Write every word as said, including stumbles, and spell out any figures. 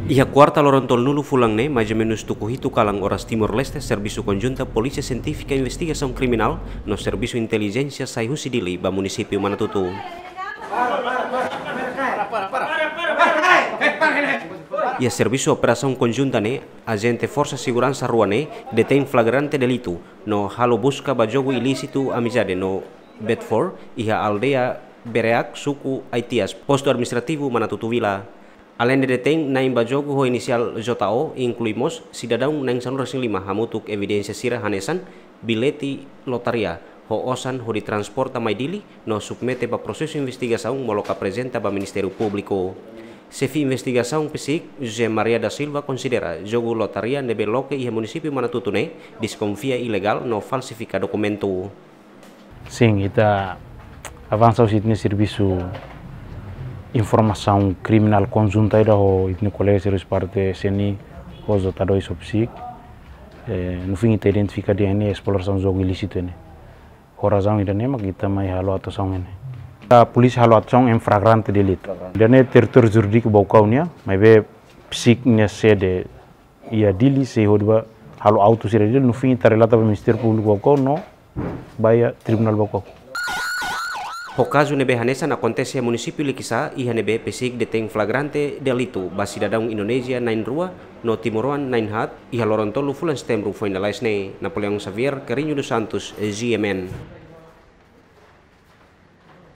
Iha kuarta loron tolunulu fulan ne'e, mais ou menus tuku hitu kalan oras Timor-Leste, servisu konjunta Polísia Sientífika Investigasaun Kriminál no Servisu Intelijénsia sai husi Dili ba munisípiu Manatutu. Iha servisu operasaun konjunta ne'e, ajente forsa seguransa rua ne'e detein flagrante delitu no halo buska ba jogu ilísitu Amizade no Betfor iha aldeia Bereak, suku Aitias, postu administrativu Manatutu Vila. Aleinde detein na'in ba jogu ho inisiál J O, inklui mós sidadaun na'in sanulu-resin-lima hamutuk evidénsia sira hanesan billete lotaria ho osan hodi transporta mai Dili no submete ba prosesu investigasaun molok aprezenta ba Ministériu Públiku. Xefe investigasaun PCIC, José Maria da Silva, konsidera jogu lotaria ne'ebé loke iha munisípiu Manatutu ne'e deskonfia ilegál no falsifika dokumentu. Sin, ita avansa husi ita-nia servisu informasaun kriminál konjunta ida ho ita-nia kolega servisu parte S N I ho J dois ho PCIC. Eh, no fim ita identifika tiha ne'e esplorasaun jogu ilísitu ne'e. Ho razaun ida-ne'e mak ita mai halo atuasaun ne'e. A polísia halo atuasaun em flagrante delito. Ida-ne'e territóriu jurídiku Baucau nian, maibé PCIC nia sede iha Dili, sei hodi ba halo autu sira Dili, no fim ita relata ba Ministériu Públiku Baucau no ba iha Tribunál Baucau. Ho kazu ne'ebé hanesan akontese iha munisípiu Likisá, iha ne'ebé PCIC detein flagrante delitu ba sidadaun Indonézia na'in rua no timoroan na'in haat, iha loron tolu fulan Setembru foin lalais ne'e. Napoleão Xavier, Carrinho dos Santos, G M N.